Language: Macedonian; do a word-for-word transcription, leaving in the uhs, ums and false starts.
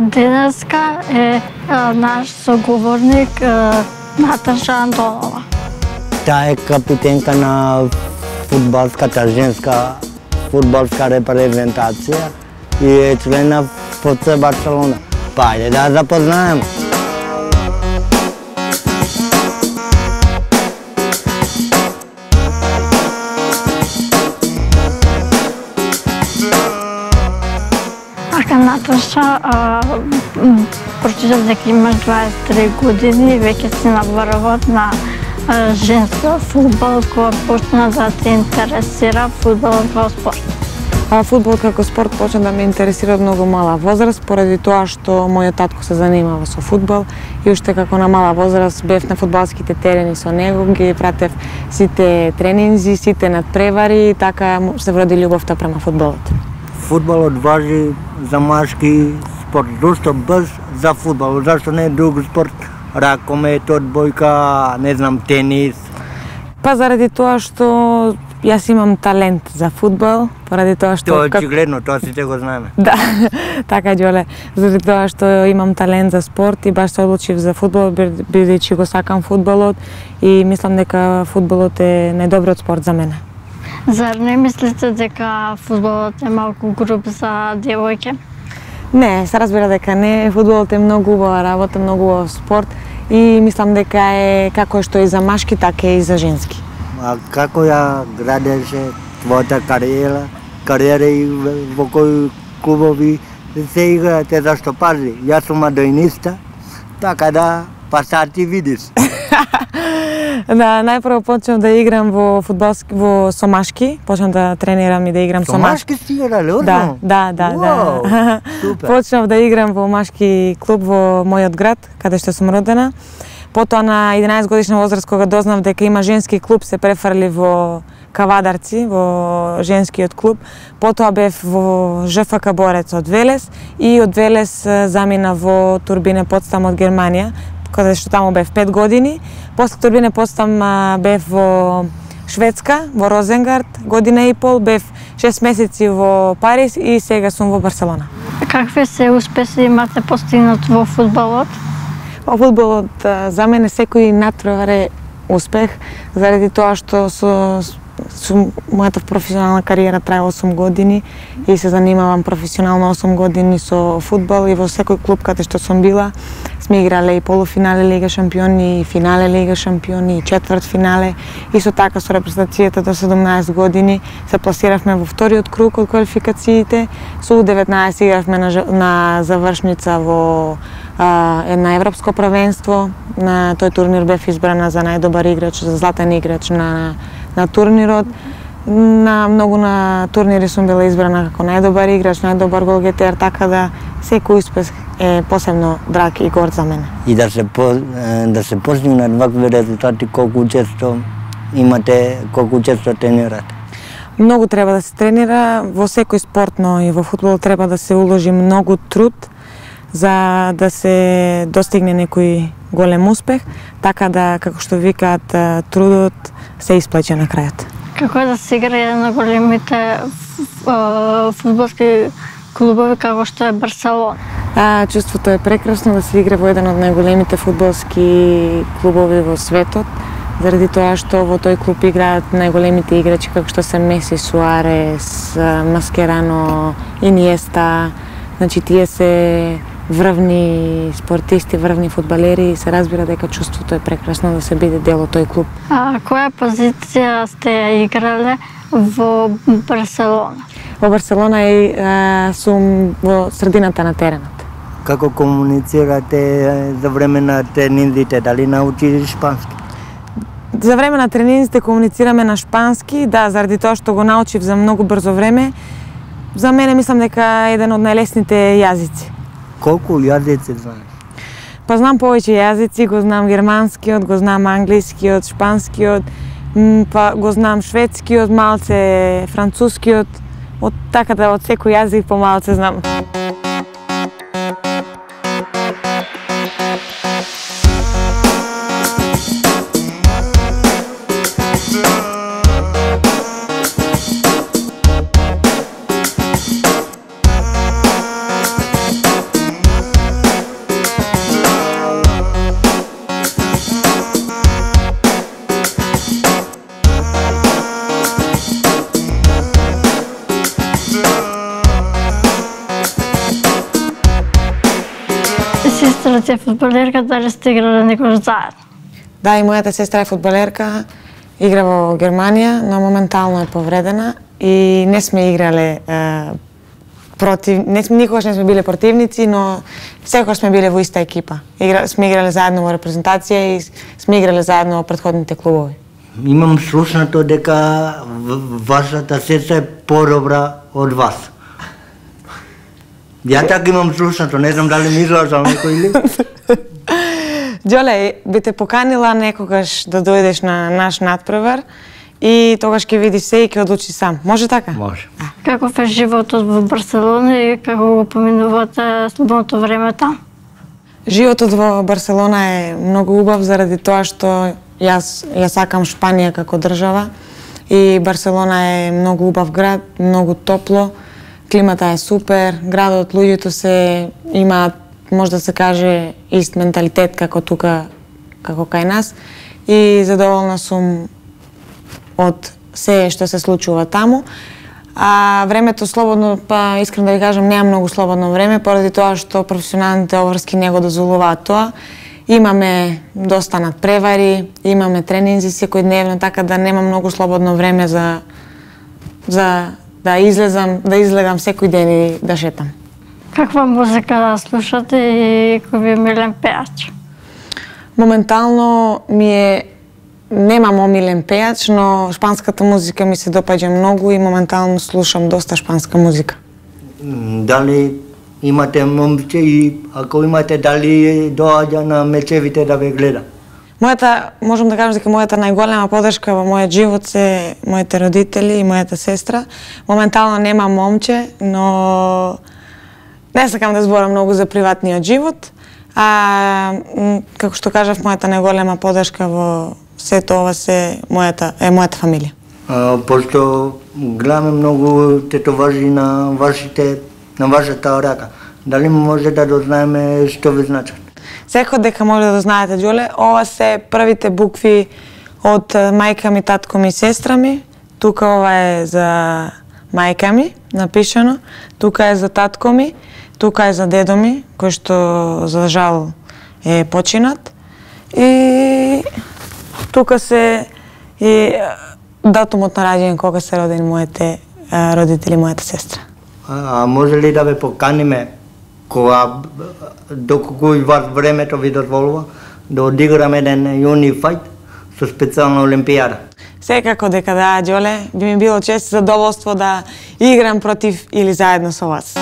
денеска е наш соговорник Наташа Антонова. Таа е капитенка на фудбалската женска фудбалска репрезентација и е член на ФЦ Барселона. Па ајде да запознаем. Ака, Наташа, прочитав дека имаш дваесет и три години и веќе си на врвот на женска фудбал, кога почна да те интересира фудбалот како спорт? Фудбалот како спорт почна да ме интересира од многу мала возраст, поради тоа што мојот татко се занимава со фудбал и уште како на мала возраст бев на фудбалските терени со него, ги пратев сите тренинзи, сите надпревари и така се вроди љубовта према фудбалот. Фудбалот важи за машки спорт. Зошто баш за фудбал? Зашто не е друг спорт? Ракомет, одбојка, не знам, тенис? Па заради тоа што јас имам талент за фудбал, поради тоа што... Тоа е очигледно, тоа сите го знаеме. Да, така Ѓоле. Заради тоа што имам талент за спорт и баш се одлучив за фудбал, бидејќи го сакам фудбалот и мислам дека фудбалот е најдобриот спорт за мене. Зар не мислите дека фудбалот е малку груб за девојке? Не, се разбира дека не. Фудбалот е многу убава работа, многу убав спорт и мислам дека е како што и за машки, така и за женски. А како ја градеше твојата кариера, кариера и во кои клубови се играте, зашто пази, јас сум адоиниста, така да, па сад ти видиш. Да, најпрво почнав да играм во фудбалски во со машки, почнав да тренирам и да играм со, со машки. Со машки си играле, Да, да, да, Уау, да. Супер. Почнав да играм во машки клуб во мојот град, каде што сум родена. Потоа на единаесет годишна возраст, кога дознав дека има женски клуб, се префрли во Кавадарци, во женскиот клуб. Потоа бев во ЖФК Борец од Велес и од Велес замина во Турбине Потстам од Германија, каде што таму бев пет години. После Турбине Потстам бев во Шведска, во Розенгард, година и пол, бев шест месеци во Париз и сега сум во Барселона. Какви се успеси имате постигнат во фудбалот? Во фудбалот за мене секој надпревар е успех, заради тоа што со, со мојата професионална кариера трае осум години и се занимавам професионално осум години со фудбал и во секој клуб каде што сум била сме играле и полуфинале Лига шампиони, и финале Лига шампиони, и четврт финале. Исто така со репрезентацијата до седумнаесет години се пласиравме во вториот круг од квалификациите. Со У деветнаесет игравме на, на завршница во а, една европско првенство. На тој турнир бев избрана за најдобар играч, за златен играч на, на турнирот. На многу на турнири сум била избрана како најдобар играч, најдобар голгетер, така да секој успех е посебно драг и горд за мене. И да се по, да се постигнат вакви резултати, колку често имате, колку често тренирате? Многу треба да се тренира, во секој спорт, но и во фудбал треба да се уложи многу труд за да се достигне некој голем успех, така да, како што викаат, трудот се исплаќа на крајот. Како е да се играе на големите фудбалски клубови како што е Барселона? А, чувството е прекрасно да се игра во еден од најголемите фудбалски клубови во светот, заради тоа што во тој клуб играат најголемите играчи како што се Меси, Суарес, Маскерано, Иниеста. Значи тие се врвни спортисти, врвни фудбалери и се разбира дека чувството е прекрасно да се биде дел од тој клуб. А која позиција сте ја играле во Барселона? Во Барселона и а, сум во средината на теренот. Како комуницирате за време на тренинзите, дали научиш шпански? За време на тренинзите комуницираме на шпански, да, заради тоа што го научив за многу брзо време. За мене мислам дека е еден од најлесните јазици. Колку јазици знаеш? Па знам повеќе јазици, го знам германскиот, го знам англискиот, шпанскиот, па го знам шведскиот, малце францускиот, од така да од секој јазик по малце знам. сте фудбалерка, дали сте играли некој заедно? Да, и мојата сестра е фудбалерка, игра во Германија, но моментално е повредена и не сме играле е, против, не сме, никогаш не сме биле противници, но секогаш сме биле во иста екипа. Игра, сме играле заедно во репрезентација и сме играле заедно во претходните клубови. Имам слушнато дека вашата сестра е подобра од вас. Ја така имам слушнато, не знам дали ми излажал некој или? Ѓоле, би те поканила некогаш да дојдеш на наш надпревар и тогаш ќе видиш се и ќе одлучи сам. Може така? Може. Каков е животот во Барселона и како го поминувате слободното време таму? Животот во Барселона е многу убав заради тоа што јас ја сакам Шпанија како држава и Барселона е многу убав град, многу топло, климата е супер, градот, луѓето се имаат, може да се каже, ист менталитет како тука, како кај нас и задоволна сум од се што се случува таму. А времето слободно, па искрено да ви кажам, немам многу слободно време, поради тоа што професионалните обврски не го дозволуваат тоа. Имаме доста надпревари, имаме тренинзи секојдневно, така да немам многу слободно време за за да излезам, да излегам секој ден и да шетам. Каква музика слушате и кој ви е милен пејач? Моментално ми е немам омилен пејач, но шпанската музика ми се допаѓа многу и моментално слушам доста шпанска музика. Дали имате момче и ако имате, дали доаѓа на мечевите да ве гледа? Мојата, можам да кажам дека мојата најголема подршка во мојот живот се моите родители и мојата сестра. Моментално немам момче, но не сакам да зборам многу за приватниот живот. А како што кажав, мојата најголема подршка во сето ова се мојата е мојата фамилија. А, пошто гледаме многу тетоважи на вашите на вашата рака. Дали може да дознаеме што ви значат? Секој дека може да знаете, Ѓоле, ова се првите букви од мајка ми, татко ми и сестра ми. Тука ова е за мајка ми, напишано. Тука е за татко ми, тука е за дедо ми, кој што за жал е починат. И тука се и датумот на раѓање кога се родени моите родители, мојата сестра. А, а може ли да ве поканиме кога доколку и вас времето ви дозволува да одиграме еден юни фајт со специјална олимпијада? Секако дека да, Ѓоле, би ми било чест и задоволство да играм против или заедно со вас.